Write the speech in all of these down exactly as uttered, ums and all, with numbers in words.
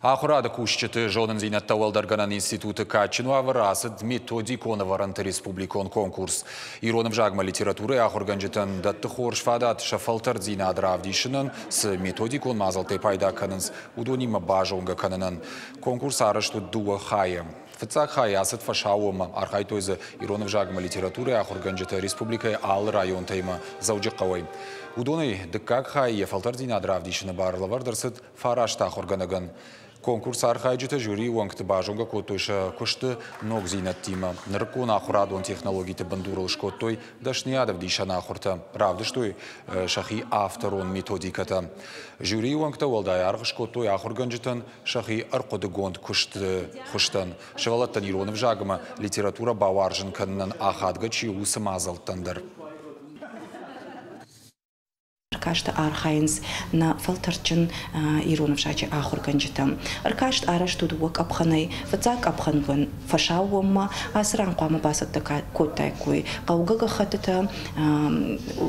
Ахуырады кусджыты зонындзинӕдтӕ уӕлдӕргӕнӕн институты кадджын уавӕры ацыд методикон ӕвӕрӕнты республикон конкурс. Ирон ӕвзагмӕ литературӕйы ахуыргӕнджытӕн дӕтты хорз фадат сӕ фӕлтӕрддзинад равдисынӕн, цы методикон мадзӕлттӕй пайда кӕнынц, уыдонимӕ базонгӕ кӕнынӕн. Конкурс арӕзт уыд дыууӕ хайы. Фыццаг хай ацыд фӕсаууонмӕ, архайдтой дзы ирон ӕвзагмӕ литературӕйы ахуыргӕнджытӕ республикӕйы алы районтӕй ӕмӕ Дзӕуджыхъӕуӕй. Уыдонӕй дыккаг хайы йӕ фӕлтӕрддзинад равдисыны бар лӕвӕрд ӕрцыд фараст ахуыргӕнӕгӕн. Конкурсы архайджытӕ жюрийы уӕнгты базонгӕ кодтой сӕ куысты ногдзинӕдтимӕ. Нырыккон ахуырадон технологиты бындурыл скодтой дӕсныйад ӕвдисӕн ахуыртӕ, равдыстой сӕхи авторон методикӕтӕ. Жюрийы уӕнгтӕ уӕлдай аргъ скодтой ахуыргӕнджытӕн сӕхи ӕрхъуыдыгонд куысты хуызтӕн, сывӕллӕттӕн ирон ӕвзагмӕ литературӕ бауарзын кӕнынӕн ахадгӕ чи у, уыцы мадзӕлттӕн дӕр. Ӕркасты архайынц нӕ фӕлтӕрдджын ирон ӕвзаджы ахуыргӕнджытӕ. Ӕркаст арӕзт у дыууӕ къӕпхӕнӕй. Фыццаг къӕпхӕн фӕсаууонмӕ ацы ран хъуамӕ бацӕттӕ кодтаиккой хъӕугӕ гӕххӕттытӕ,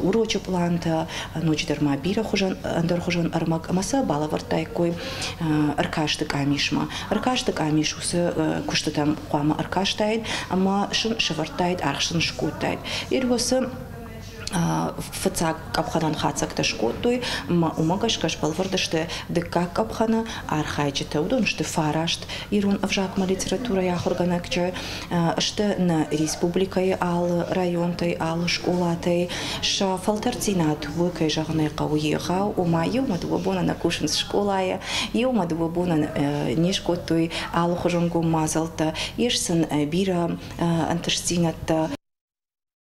урочы пълантӕ, ноджыдӕр ма бирӕ хуызӕн ӕндӕрхуызон ӕрмӕг ӕмӕ сӕ балӕвӕрдтаиккой ӕркасты къамисмӕ. Ӕркасты къамис уыцы куыстытӕм хъуамӕ ӕркастаид ӕмӕ сын сӕвӕрдтаид, аргъ сын скодтаид. Уыцы фыццаг къӕпхӕнӕн хатдзӕгтӕ скодтой, ӕмӕ уымӕ гӕсгӕ сбӕлвырд сты дыккаг къӕпхӕны архайджытӕ. Уыдон сты фараст ирон ӕвзагмӕ литературӕйы ахуыргӕнӕджы, сты нӕ республикӕйы алы районтӕй, алы скъолатӕй. Сӕ фӕлтӕрддзинад у, кӕй зӕгъын ӕй хъӕуы, егъау, ома иумӕ дыууӕ боны нӕ кусынц скъолайы, иумӕ дыууӕ боны не скодтой алыхуызон гом мадзӕлттӕ, ис сын бирӕ ӕнтыстдзинӕдтӕ.